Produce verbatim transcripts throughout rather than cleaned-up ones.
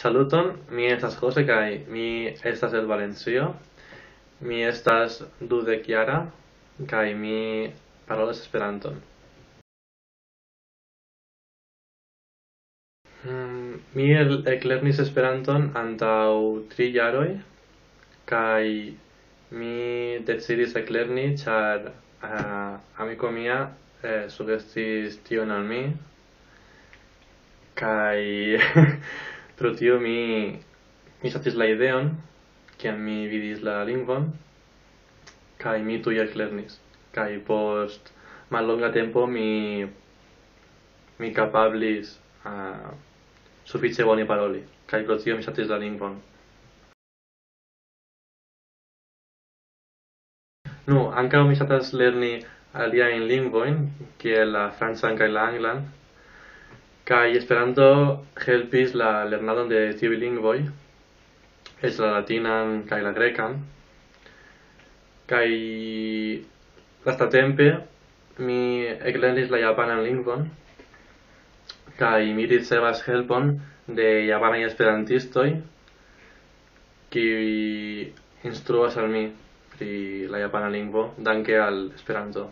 Saluton, mi estas Jose kaj mi estas el Valencio. Mi estas dudek jara kaj mi parolas Esperanton. Hmm, mi el-, eklernis Esperanton antaŭ tri jaroj, kaj mi decidis eklerni, ĉar, ah, amiko mia, eh, sugestis tion al mi, kaj pro tio mi, mi ŝatis la ideon, kiam mi vidis la lingvon, kaj mi tuj eklernis. Kaj post mallonga tempo mi, mi kapablis, ah, sufiĉe bone paroli, kaj pro tio mi ŝatis la lingvon. Nu, ankaŭ mi ŝatas lerni aliajn lingvojn, kiel la francan kaj la anglan, kaj Esperanto helpis la lernadon de tiuj lingvoj, eĉ la latinan kaj la grekan. Kaj lastatempe mi eklernis la japanan lingvon, kaj mi ricevas helpon de japanaj esperantistoj, kiuj instruas al mi pri la japana lingvo, danke al Esperanto.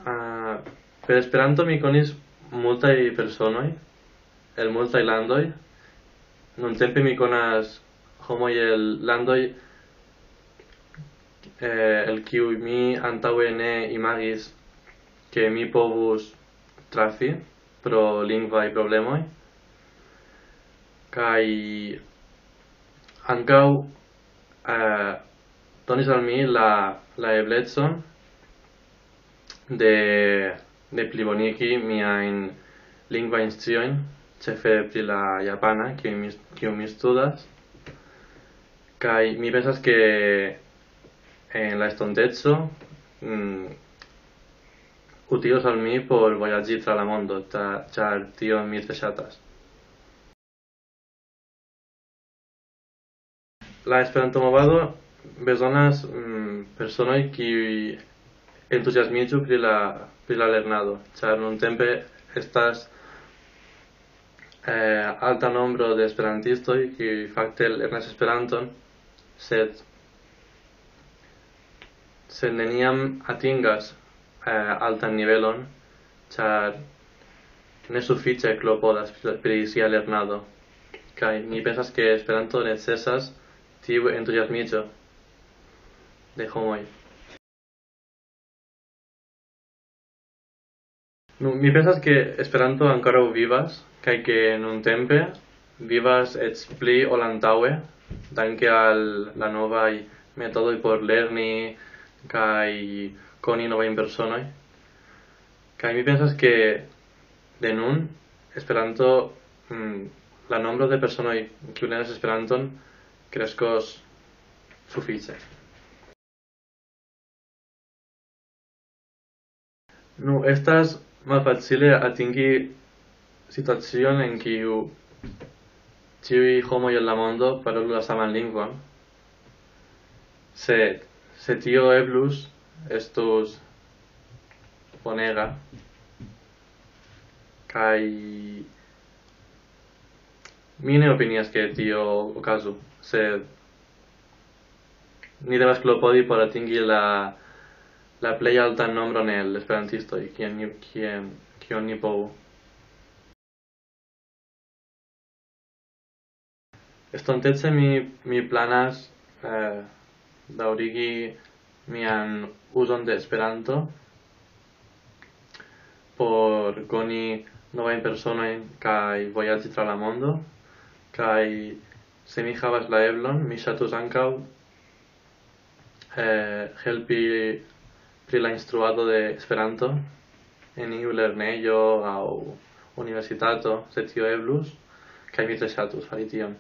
Ah, per Esperanto mi konis multaj personoj el multaj landoj. Nuntempe mi konas homoj el landoj, eh, el kiuj mi antaŭe ne imagis, ke mi povus trafi pro lingvaj problemoj. Kaj ankaŭ, eh, donis al mi la, la eblecon de, de plibonigi miajn lingvajn sciojn, ĉefe pri la japana, kiu mi, kiu mi studas. Kaj mi pensas, ke en la estonteco, mm, utilos al mi por vojaĝi tra la mondo, ta-, ĉar tion mi tre ŝatas. La Esperanto-movado bezonas, mm, personoj, kiuj entuziasmiĝu pri la, pri la lernado, ĉar nuntempe estas, eh, alta nombro de esperantistoj, kiuj fakte lernas Esperanton, sed, sed neniam atingas, eh, altan nivelon, ĉar ne sufiĉe klopodas pri, pri sia lernado. Kaj mi pensas, ke Esperanto necesas tiu entuziasmiĝo de homoj. Nu, mi pensas, ke Esperanto ankoraŭ vivas, kaj ke nuntempe vivas eĉ pli ol antaŭe, danke al la novaj metodoj por lerni kaj koni novajn personoj. Kaj mi pensas, ke de nun Esperanto, mm, la nombro de personoj, kiu lernas Esperanton, kreskos sufiĉe. Nu, estas malfacile atingi situacion, en kiu ĉiuj homoj en la mondo parolu la saman lingvon. Sed, se tio eblus, estus bonega. Kaj mi ne opinias, ke tio okazu, sed ni devas klopodi por atingi la, la plej altan nombron el esperantistoj, kien ni, kien, kion ni povu. Estontece mi, mi planas, eh, daŭrigi mian uzon de Esperanto por koni novajn personojn kaj vojaĝi tra la mondo, kaj se mi havas la eblon, mi ŝatus ankaŭ, eh, helpi pri la instruado de Esperanto en iu lernejo aŭ universitato, se tio eblus, kaj mi tre ŝatus fari tion.